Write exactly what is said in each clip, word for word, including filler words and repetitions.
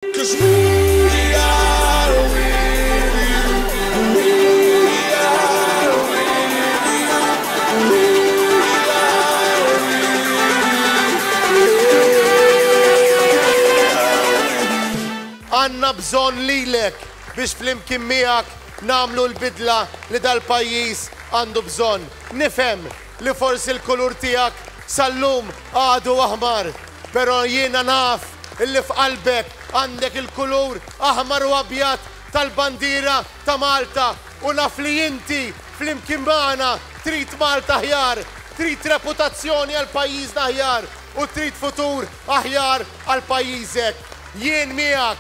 'Cause we are with you. We are with you. We are with you. Għandna bżonn lilek biex flimkien miegħek nagħmlu l-bidla li dal-pajjiż għandu bżonn. Nifhem li forsi l-kulur tiegħek sal-lum għadu aħmar, però jiena naf illi f'qalbek għandek il-kulur aħmar u abjad tal-bandiera ta' Malta u naf li inti flimkien magħna trid Malta aħjar, trid reputazzjoni għal pajjiżna aħjar u trid futur aħjar għal pajjiżek. Jien miegħek,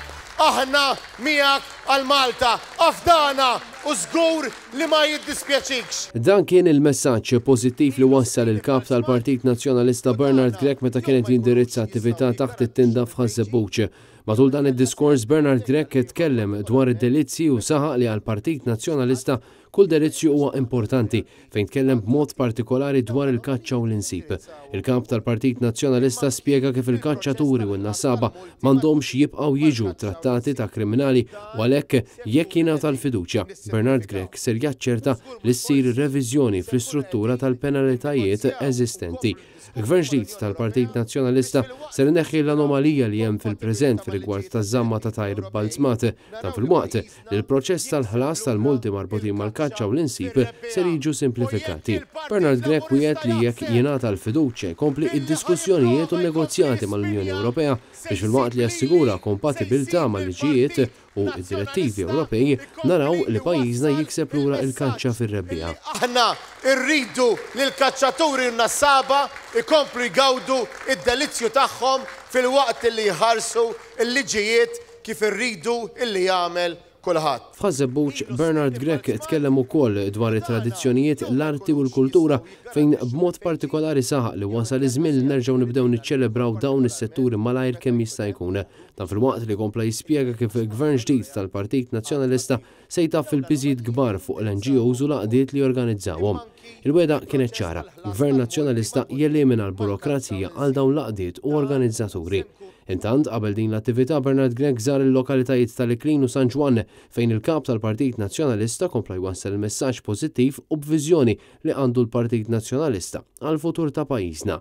aħna miegħek għal Malta, afdana u żgur li ma jiddispjaċikx. Dan kien il-messaġġ pożittiv li wassal il-kap tal-Partit Nazzjonalista Bernard Grech meta kienet jindirizza attività taħt it-tinda f'Ħaż-Żebbuġ. Matul dan id-diskors, Bernard Grech tkellem dwar id-delizzji u saħaq li għal-Partit Nazzjonalista kull delizzju huwa importanti, fejn tkellem b'mod partikolari dwar il-kaċċa u l-insib. Il-kap tal-Partit Nazzjonalista spjega kif il-kaċċaturi u n-nassaba m'għandhomx jibqgħu jiġu trattati ta' kriminali u għalhekk, jekk jingħata l-fiduċja, Bernard Grech ser jaċċerta li ssir reviżjoni fl-istruttura tal-penalitajiet eżistenti. Il-Gvern ġdid tal-Partit Nazzjonalista ser ineħħi l-anomalija li hemm fil-preżent fir-rigward taż-żamma ta' tajr balzmat, dan filwaqt li l-proċess tal-ħlas tal-multi marbutin mal-kaċċa u l-insib ser jiġu simplifikati. Bernard Grech wiegħed li jekk jingħata l-fiduċja jkompli id-diskussjonijiet u negozjati mal-Unjoni Ewropea biex, filwaqt li jassigura kompatibilità mal-liġijiet u id-direttivi Ewropej, naraw li pajjiżna jikseb lura il-kaċċa fir-rebbiegħa. Aħna rridu li l-kaċċaturi u n-nassaba ikomplu jgawdu id-delizzju tagħhom filwaqt li jħarsu l-liġijiet kif irridu illi jagħmel kulħadd. F'Ħaż-Żebbuġ, Bernard Grech tkellem ukoll dwar it-tradizzjonijiet, l-arti u l-kultura, fejn b'mod partikolari saħaq li wasal iż-żmien li nerġgħu nibdew niċċelebraw dawn is-setturi malajr kemm jista' jkun. Dan filwaqt li kompla jispjega kif il-Gvern ġdid tal-Partit Nazzjonalista se jtaffi l-piżijiet kbar fuq l-N G Os u l-għaqdiet li jorganizzawhom. Il-wegħda kienet ċara: Gvern Nazzjonalista jelimina l-burokrazija għal dawn l-għaqdiet u organizzaturi. Intant, qabel din l-attività, Bernard Grech żar il-lokalitajiet tal-Iklin u San Ġwann, fejn il-kap tal-Partit Nazzjonalista kompla jwassal il-messaġġ pożittiv u b'viżjoni li għandu l-Partit Nazzjonalista għal futur ta' pajjiżna.